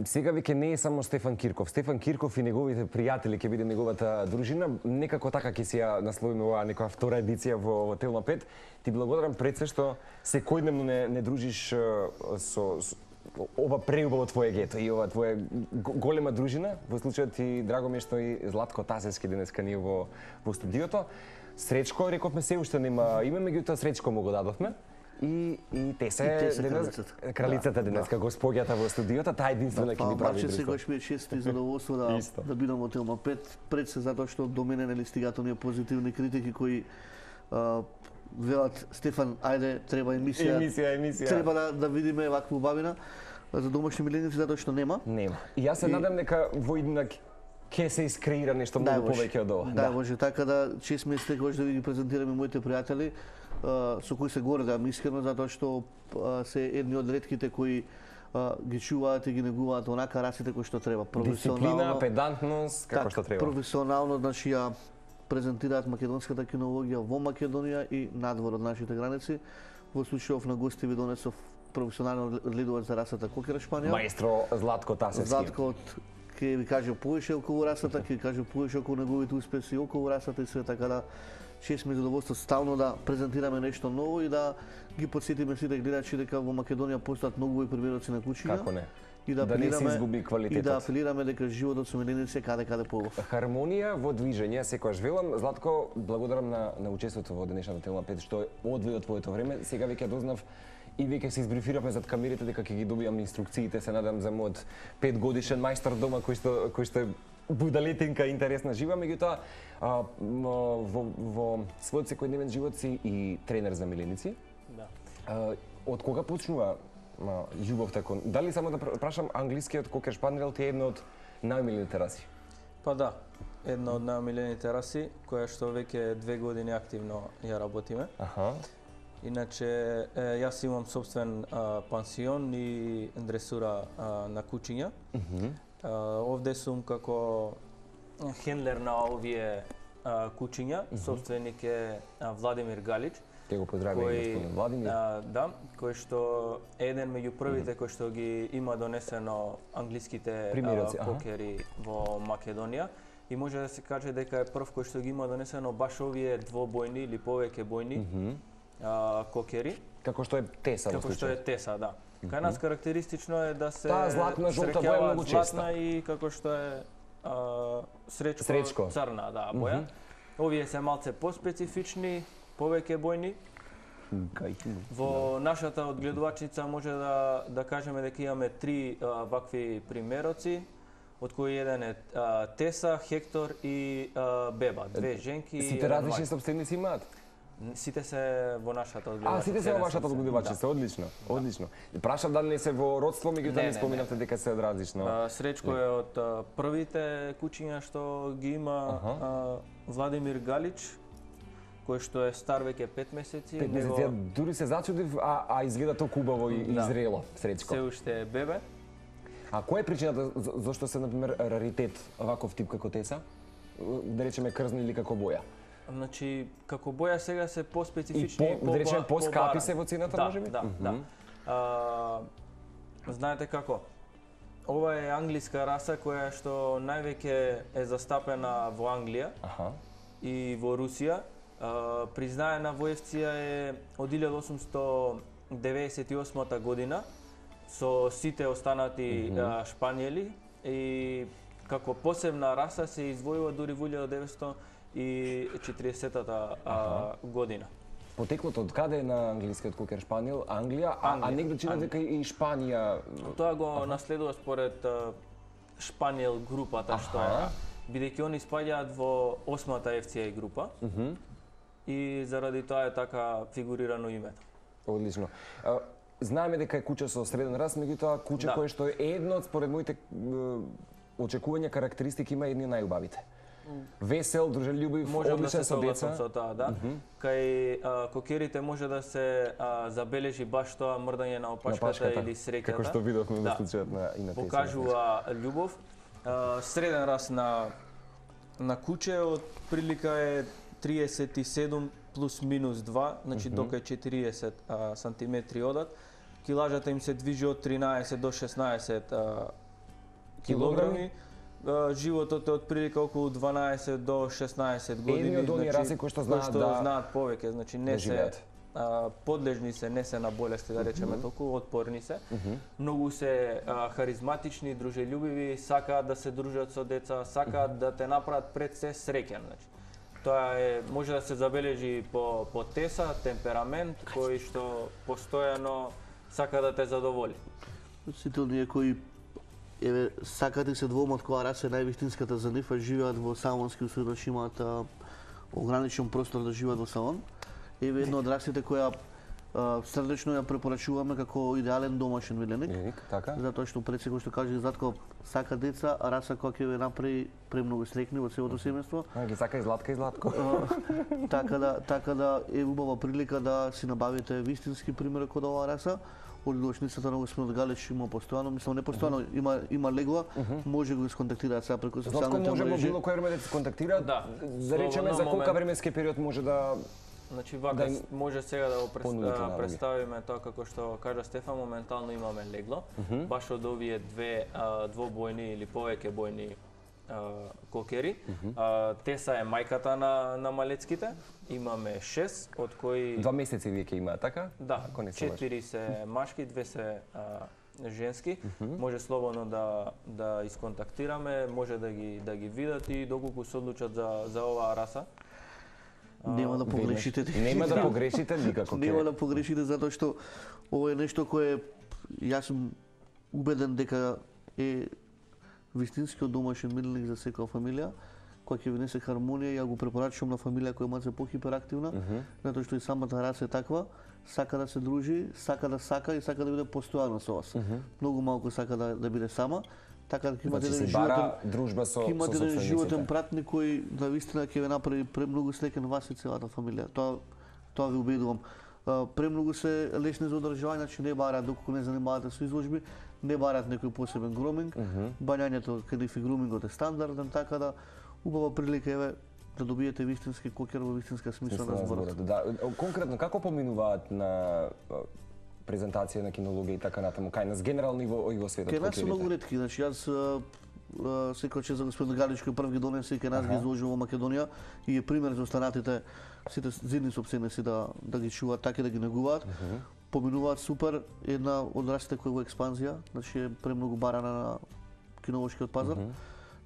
Сега веќе не е само Стефан Кирков. Стефан Кирков и неговите пријатели ќе биде неговата дружина. Некако така ќе си ја насловиме оваа некоја втора едиција во Телма 5. Ти благодарам пред се што секојдневно не дружиш со ова преубаво твое гето и ова твоја голема дружина. Во случајот ти драго ми е што и Златко Тасевски денеска ние во студиото. Сречко, рековме се уште нема име, меѓутоа Сречко му го дадовме. И те се кралицата денеска, господјата во студиото, таа единствена ќе ни прави друштво. Секогаш ми е чест и задоволство да бидам во Телма 5, пред се затоа што до мене нели стигаат оние позитивни критики кои велат Стефан, ајде, треба емисија. Треба да видиме ваква убавина за домашни миленици затоа што нема. Нема. И јас се надам дека во иднина ќе се искреира нешто многу повеќе од ова. Да, може така да чест ми е секогаш да ви ги презентираме моите пријатели со кои се гордам искрено затоа што се едни од ретките кои ги чуваат и ги негуваат онака расите кои што треба. Дисциплина, педантност, како што треба. Професионално, значи ја презентираат македонската кинологија во Македонија и надвор од нашите граници. Во случајов на гости ви донесов професионален одгледувач за расата кокер шпаниол. Маестро Златко Тасевски. Златко ќе ви каже повеќе околу расата, ќе ви каже повеќе околу неговите успеси околу расата и све, така да чест ми задоволство стално да презентираме нешто ново и да ги потсетиме сите гледачи дека во Македонија постојат многу примероци на кучиња. Како не? И да не се изгуби квалитетот. И да апелираме дека животот со миленици е каде поубав. Хармонија во движење, секогаш велам. Златко, благодарам на учеството во денешната Телма 5 што одвои од твоето време. Сега веќе дознав и веќе се избрифиравме зад камерите дека ќе ги добиам инструкциите, се надам за мојот 5-годишен мајстор дома кој што будалетинка интересна жива, меѓутоа во својот секојдневен живот си и тренер за миленици. Да. Од кога почнува љубовта кон? Дали само да прашам, англискиот кокер шпаниел ти е една од најомилените раси? Па да, една од најомилените раси, која што веќе 2 години активно ја работиме. Аха. Иначе, јас имам собствен пансион и дресура на кучиња. Овде сум како хендлер на овие кучиња, собственик е Владимир Галич. Те го поздравувам господин Владимир. Да, кој што е еден меѓу првите кој што ги има донесено англиските кокери во Македонија. И може да се каже дека е прв кој што ги има донесено баш овие двобојни или повеќе бојни кокери. Како што е Теса. Како што е Теса, да. Кај нас карактеристично е да се златна жолта боја е многу честа. Златна и како што е Сречко црна, да, боја. Овие се малце поспецифични, повеќе бојни. Во нашата одгледувачница може да кажеме дека имаме 3 вакви примероци, од кои еден е Теса, Хектор и Беба, 2 женки. Сите различни собственици имаат? Сите се во нашата одгледувачница. Сите се во вашата одгледувачница, одлично, одлично. Прашав дали не се во родство, меѓутоа не споминавте дека се од различно. Сречко е од првите кучиња што ги има Владимир Галич, кој што е стар веќе 5 месеци. 5 месеци, дури се зачудив, а изгледа толку убаво и зрело, Сречко. Се уште е бебе. А која е причината зашто се, например, раритет ваков тип како Теса? Да речеме крзни или како боја? Значи, како боја сега се поспецифични и да речеме поскапи се во цената, можеби? Да. Знаете како? Ова е англиска раса која што највеќе е застапена во Англија и во Русија. Признаена во ЕФЦИ-ја е од 1898 година со сите останати шпаниели и како посебна раса се издвојува дури во 1940-та година. Потеклото од каде е на англискиот кокер шпаниел? Англија, а негде чина дека и Шпанија. Тоа го наследува според шпаниел групата што е, бидејќи они спаѓаат во 8-та ФЦА група. И заради тоа е така фигурирано името. Одлично. Знаеме дека е куче со среден раст, меѓутоа куче кое што е едно од според моите очекувања карактеристики има едни најубавите. Весел, дружелюбив, одличен со деца. Со тоа, да. Кај кокерите може да се забележи баш тоа мрдање на опашката или среќата. Како што видовме во случајот на Теса. Покажува љубов. Среден раст на куче од прилика е 37 плюс минус 2, значи дока е 40 сантиметри одат. килажата им се движи од 13 до 16 килограми. Животот е од прилика околу 12 до 16 години. Едни од оние раси кои што знаат повеќе, значи не се подлежни се, не се на болести, да речеме толку, отпорни се. Многу се харизматични, дружелюбиви, сакаат да се дружат со деца, сакаат да те направат пред се среќен. Значи, тоа може да се забележи по теса, темперамент, кој што постојано сака да те задоволи. Сите оние кои сакаат и се двомат која раса е највистинската за нив, живеат во салонски условија, имаат ограничен простор да живеат во салон. Една од расите која срдечно ја препорачуваме како идеален домашен миленик. Така? Затоа што пред се кој што каже Златко сака деца, а раса која ќе ве направи премногу среќни во целото семејство. Ги сака и Златка и Златко. Така да е убава прилика да си набавите вистински примерок од оваа раса. Од лошницата на Господин Галич има постојано, мислам не постојано, има легла, може го сконтактираат сега преку социјалните мрежи. Може било кој време да се контактираат? Да речеме за колка временски период може да... Значи вака може сега да го представиме тоа како што кажа Стефан, моментално имаме легло, баш од овие двобојни или повеќе бојни кокери. Теса е мајката на малецките. Имаме 6, од кои 2 месеци вие ќе имаат, така? Да, 4 се машки, 2 се женски. Може слободно да исконтактираме, може да ги видат и доколку се одлучат за оваа раса. Нема да погрешите. Нема да погрешите никако. Нема да погрешите затоа што ова е нешто кое јас сум убеден дека е вистинскиот домашен миленик за секоја фамилија, која ќе внесе хармонија. Ја го препорачувам на фамилија која е малку похиперактивна, затоа што и самата раса е таква, сака да се дружи, сака и сака да биде постојано со вас. Многу малку сака да биде сама. Така да имате еден животен пратник кој навистина ќе ве направи премногу среќен вас и целата фамилија. Тоа ви убедувам. Премногу се лесни за одржување, значи не бараат доколку не занимавате со изложби, не бараат некој посебен груминг. Бањањето каде и грумингот е стандарден, така да убава прилика еве да добиете вистински кокер во вистинска смисла на зборот. Да, конкретно како поминуваат на презентација на кинологија и така натаму, кај нас генерално и во светот? Кај нас се многу ретки, значи јас секој че за Господин Галич кој прв ги донесе и кај нас ги изложил во Македонија и е пример за останатите сите зидни сопседници да ги чуваат така и да ги негуваат. Поминуваат супер, една од расите која во експанзија, значи е премногу барана на кинолошкиот пазар.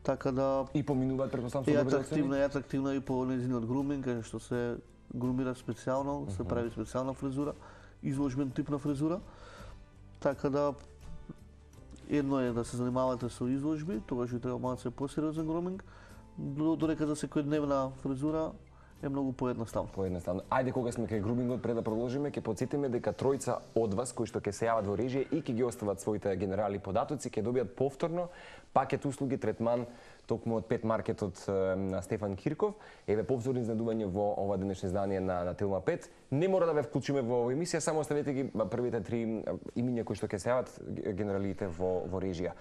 Така да и поминуваат претпоставам со добри оцени. Е атрактивна и по нејзиниот груминг, кај што се грумира специјално, се прави специјална фризура, изложбен тип на фризура. Така да едно е да се занимавате со изложби, тогаш ви треба малку посериозен груминг, додека за секојдневна фризура е многу поедноставно. Ајде кога сме кај грумингот, пред да продолжиме, ќе потсетиме дека тројца од вас кои што ќе се јават во режија и ќе ги остават своите генерали податоци, ќе добијат повторно пакет услуги третман токму од Пет маркетот на Стефан Кирков. Еве повторно изненадување во ова денешно издание на Телма 5. Не мора да ве вклучиме во оваа емисија, само оставете ги првите 3 имиња кои што ќе се јават генералите во режија.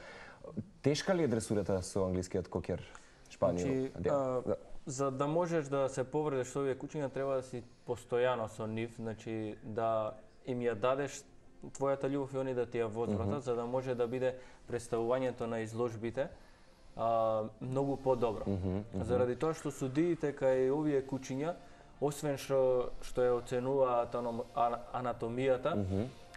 Тешка ли е дресурата со англискиот кокер Шпанијо? За да можеш да се повредиш со овие кучиња, треба да си постојано со нив, значи да им ја дадеш твојата љубов и они да ти ја возвратат, за да може да биде представувањето на изложбите многу подобро. Заради тоа што судиите кај овие кучиња, освен што ја оценуваат анатомијата,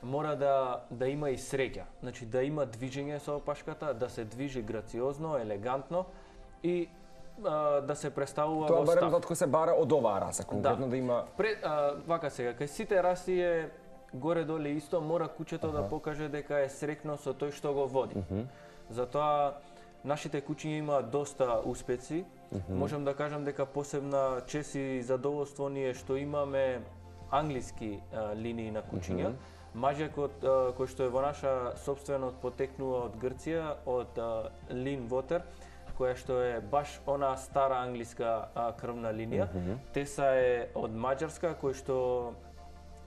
мора да има и среќа. Значи да има движење со опашката, да се движи грациозно, елегантно и да се представува во став. Тоа барем затоа се бара од оваа раса, конкретно да има... Вака сега, кај сите раси е горе-доле исто, мора кучето да покаже дека е среќно со тој што го води. Затоа нашите кучиња имаат доста успеси. Можам да кажам дека посебна чест и задоволство ни е што имаме англиски линии на кучиња. Мажекот кој што е во наша собственост потекнува од Грција, од Лин Вотер, која што е баш она стара англиска крвна линија. Теса е од Маđarска, кој што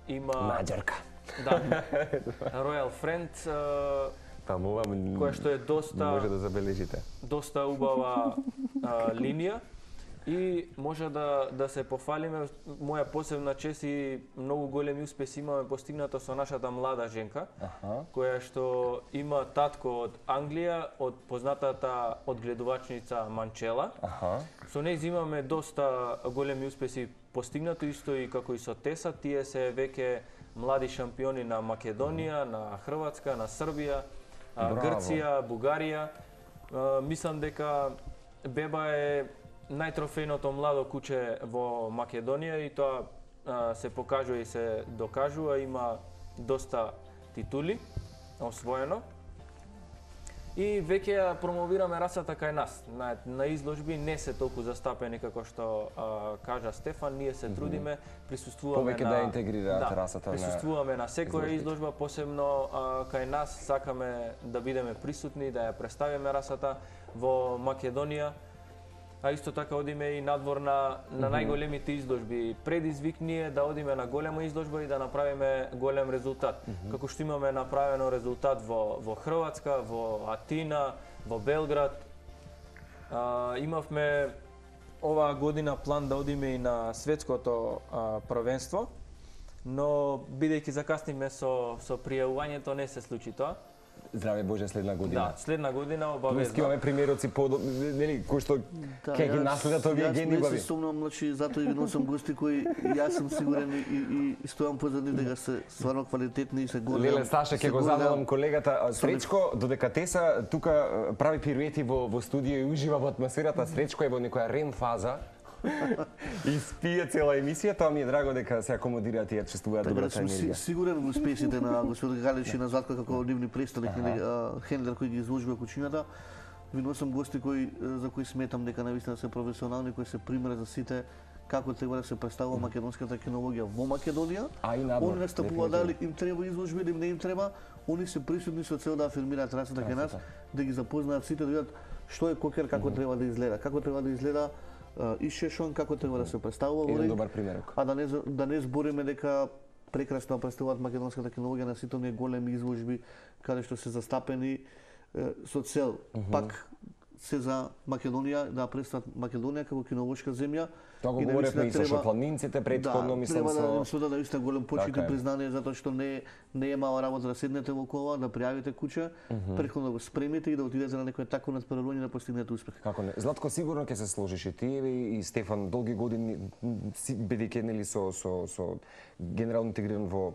има... Маđarка. Да. Royal Friend, која што е доста... може да забележите. Доста убава линија. И може да се пофалиме, моја посебна чест и многу големи успеси имаме постигнато со нашата млада женка, која што има татко од Англија, од познатата одгледувачница Манчела. Со неј имаме доста големи успеси постигнато, исто и како и со Теса. Тие се веќе млади шампиони на Македонија, на Хрватска, на Србија, Грција, Бугарија. Мислам дека Беба е најтрофејното младо куче во Македонија и тоа се покажува и се докажува, има доста титули освоено. И веќе ја промовираме расата кај нас. На изложби не се толку застапени како што кажа Стефан, ние се трудиме, присуствуваме повеќе да интегрираат расата. Присуствуваме на секоја изложба, посебно кај нас сакаме да бидеме присутни, да ја представиме расата во Македонија. А исто така одиме и надвор на најголемите изложби. Предизвик ни е да одиме на голема изложба и да направиме голем резултат. Како што имаме направено резултат во Хрватска, во Атина, во Белград. Имавме оваа година план да одиме и на светското првенство, но бидејќи закасниме со пријавувањето не се случи тоа. Здраве Боже, следна година. Да, следна година обавезно. Имаме примероци нели кои што ќе ги наследат овие гени убави. Јас не се сумнам, значи затоа и носам гости кои јас сум сигурен и стојам позад нив дека се стварно квалитетни и се големи. Леле Саша, ќе го замолам колегата Сречко, додека Теса тука прави пируети во студио и ужива во атмосферата, Сречко е во некоја рем фаза. И спие цела емисија, тоа ми е драго дека се акомодираат и ја чувствуваат добрата енергија. Сигурен во успесите на господин Галич и на Златко како нивни представник, хендлер кој ги изложува кучињата. Ви носам гости за кои сметам дека навистина се професионални, кои се пример за сите како треба да се представува македонската кинологија во Македонија. Они настапуваат дали им треба изложби или не им треба, они се присутни со цел да афирмираат расата кај нас, да ги запознаат сите, да видат што е кокер, како треба да изгледа, како треба да изгледа и шешон, како треба да се представува во ринг. Добар примерок. А да не збориме дека прекрасно представуваат македонската кинологија на сите оние големи изложби каде што се застапени со цел пак се за Македонија, да представат Македонија како кинолошка земја. Тоа го говоревме и со шотландинците претходно, мислам со... Да, треба да се даде исто голем почит и признание, затоа што не е мала работа да седнете во кола, да пријавите куче, претходно да го спремите и да отидете на некој такво надпреварување да постигнете успех. Како не? Златко, сигурно ќе се сложиш и ти и Стефан долги години бидејќи нели со генерално интегриран во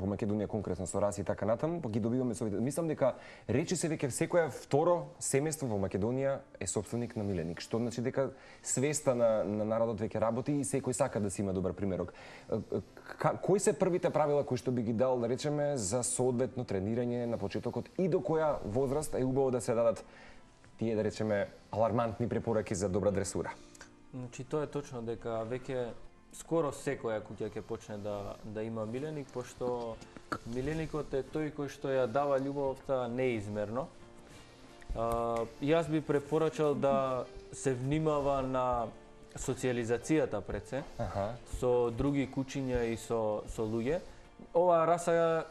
Македонија конкретно со раси и така натаму, па ги добиваме со... Мислам дека речи се веќе секоја второ семејство во Македонија е сопственик на миленик, што значи дека свеста на народот веќе работи и секој сака да си има добар примерок. Кои се првите правила кои што би ги дал, да речеме, за соодветно тренирање на почетокот и до која возраст е убаво да се дадат тие, да речеме, алармантни препораки за добра дресура? Значи тоа е точно дека веќе скоро секоја куќа ќе почне да има миленик, пошто миленикот е тој кој што ја дава љубовта неизмерно. Јас би препорачал да се внимава на социализацијата пред се, со други кучиња и со луѓе. Оваа раса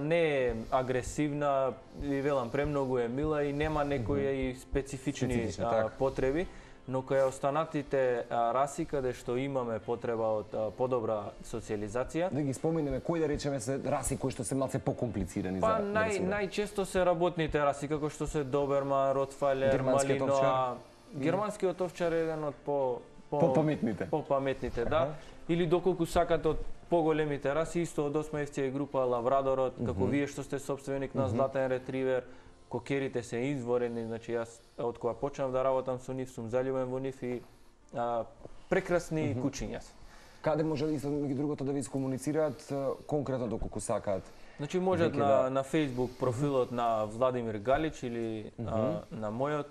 не е агресивна, ви велам, премногу е мила и нема некои специфични потреби. Но кај останатите раси каде што имаме потреба од подобра социализација. Да ги споменеме кои, да речеме, се раси кои што се малце покомплицирани за дресура. Најчесто се работните раси како што се доберман, ротвајлер, малиноа. Германскиот овчар е еден од попаметните, да. Или доколку сакате од поголемите раси, исто од 8 FCA група лабрадорот, како вие што сте собственик на златен ретривер. Кокерите се изворени, значи јас од кога почнав да работам со нив сум заљубен во нив и прекрасни кучиња. Каде може и другото да ви искомуницираат конкретно доколку сакаат? Значи можат на Facebook профилот на Владимир Галич или на мојот,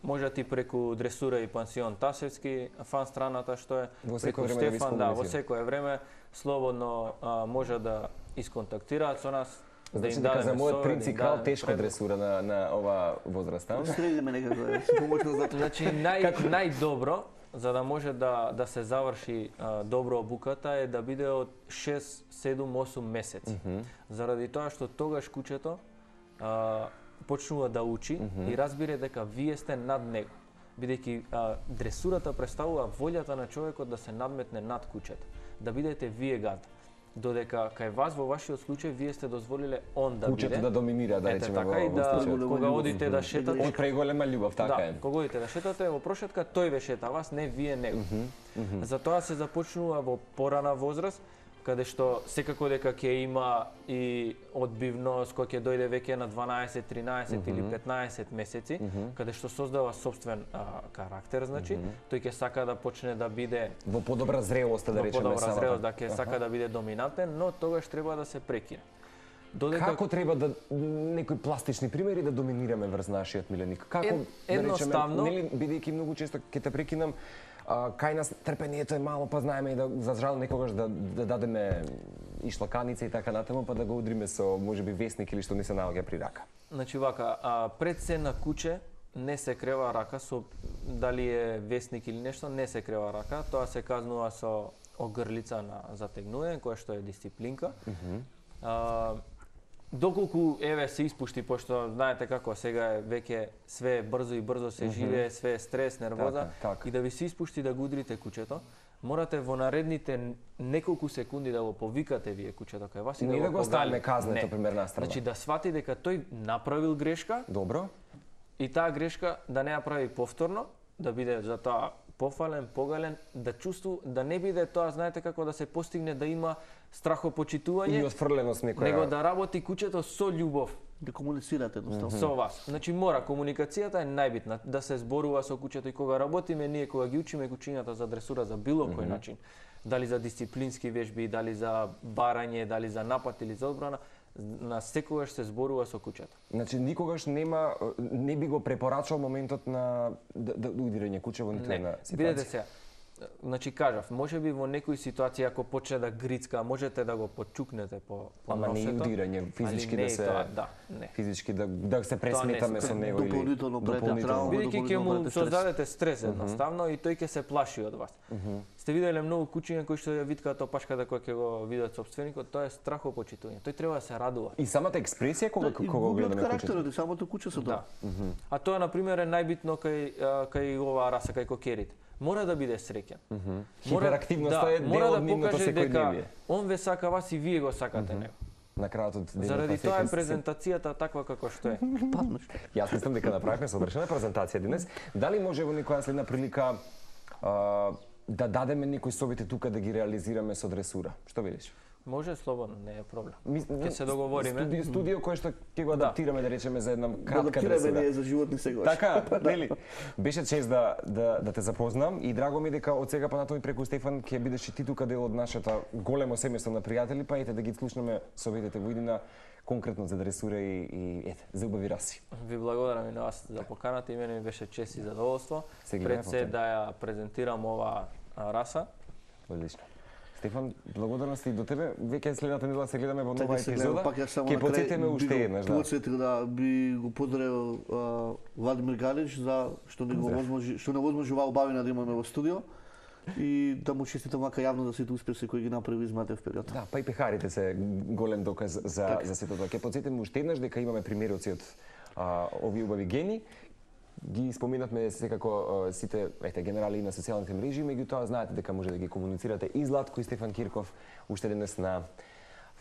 можат и преку Дресура и пансион Тасевски, фан страната што е преку Стефан, да, во секое време слободно може да исконтактираат со нас. Значи дека за мојот принципал тешко дресура на ова возраста. Средиме некако, се помошно за тоа. Значи најдобро за да може да се заврши добро обуката е да биде од 6, 7, 8 месеци. Заради тоа што тогаш кучето почнува да учи и разбира дека вие сте над него. бидејќи дресурата представува волјата на човекот да се надметне над кучето, да бидете вие гад. Додека кај вас во вашиот случај вие сте дозволиле он да биде. Кучето да доминира, да речеме така и да кога одите да шетате. Од преголема љубов, така е. Да, кога одите да шетате во прошетка, тој ве шета вас, не вие него. Затоа се започнува во порана возраст, каде што секако дека ќе има и одбивност кој ќе дојде веќе на 12, 13 или 15 месеци, каде што создава собствен карактер, значи, тој ќе сака да почне да биде во подобра зрелост, да речеме, во подобра зрелост, да ќе сака да биде доминантен, но тогаш треба да се прекине. Како треба да некои пластични примери да доминираме врз нашиот миленик? Како едноставно, да речеме, бидејќи многу често ќе те прекинам, кај нас трпението е мало, па знаеме и да за жал некогаш да дадеме и шлаканица и така натаму, па да го удриме со можеби весник или што не се наоѓа при рака. Значи вака, пред се на куче не се крева рака со дали е весник или нешто, не се крева рака, тоа се казнува со огрлица на затегнување, која што е дисциплинка. Доколку еве се испушти, пошто знаете како сега е веќе све брзо и брзо се живее, све е стрес, нервоза, и да ви се испушти да го удрите кучето, морате во наредните неколку секунди да го повикате вие кучето кај вас и да го оставиме казнето пример настрана. Значи да свати дека тој направил грешка. Добро. И таа грешка да не ја прави повторно, да биде за тоа пофален, погален, да чувствува, да не биде тоа, знаете како да се постигне да има страхопочитување и отфрленост некоја. Него да работи кучето со љубов, да комуницирате едноставно со вас. Значи мора комуникацијата е најбитна, да се зборува со кучето и кога работиме ние, кога ги учиме кучињата за дресура за било кој начин, дали за дисциплински вежби, дали за барање, дали за напад или за одбрана, на секогаш се зборува со кучето. Значи никогаш не би го препорачал моментот на да удирање куче во ниту една ситуација. Бидете сега. Значи кажав, можеби во некои ситуации ако почне да грицка, можете да го почукнете по ама носето. Ама не удирање, физички да се не. Физички да се пресметаме со него или дополнително травма, бидејќи ќе му создадете стрес едноставно и тој ќе се плаши од вас. Сте виделе многу кучиња кои што ја виткаат опашката која ќе го видат собственикот, тоа е страхопочитување. Тој треба да се радува. И самата експресија кога гледаме кучето. И самото куче со тоа. А тоа на пример е најбитно кај оваа раса, кај кокерите. Мора да биде среќен. Хиперактивноста е дел од нивното секојдневие. Он ве сака вас и вие го сакате него. На крајот од денот. Заради тоа е презентацијата таква како што е. Јас мислам дека направивме совршена презентација денес. Дали може во некоја следна прилика да дадеме некои совети тука да ги реализираме со дресура? Што велиш? Може слободно, не е проблем. Ќе се договориме. Студио кој што ќе го адаптираме, да речеме, за една кратка дресура. Адаптираме ние за животни сегаш. Така, нели? Беше чест да те запознам и драго ми дека од сега понатаму преку Стефан ќе бидеш и ти тука дел од нашата големо семејство на пријатели, па ете да ги слушнеме советите во иднина конкретно за дресура и ете, за убави раси. Ви благодарам и на вас за поканата, и мене ми беше чест и задоволство. Пред се да ја презентирам оваа раса. Одлично. Стефан, благодарности и до тебе. Веќе следната недела се гледаме во нова епизода. Ќе потсетиме уште еднаш, да. Потсетил да би го поздравил Владимир Галич за што не возможи оваа убавина да имаме во студио и да му честитам вака јавно за сите успеси кои ги направи изминатиот период. Да, па и пехарите се голем доказ за сето тоа. Ќе потсетиме уште еднаш дека имаме примероци од овие убави гени. Ги споминавме секако сите генерали на социјалните мрежи, меѓутоа знаете дека може да ги комуницирате и Златко и Стефан Кирков уште денес на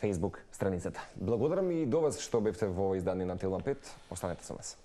Facebook страницата. Благодарам и до вас што бевте во издание на Телма 5. Останете со нас.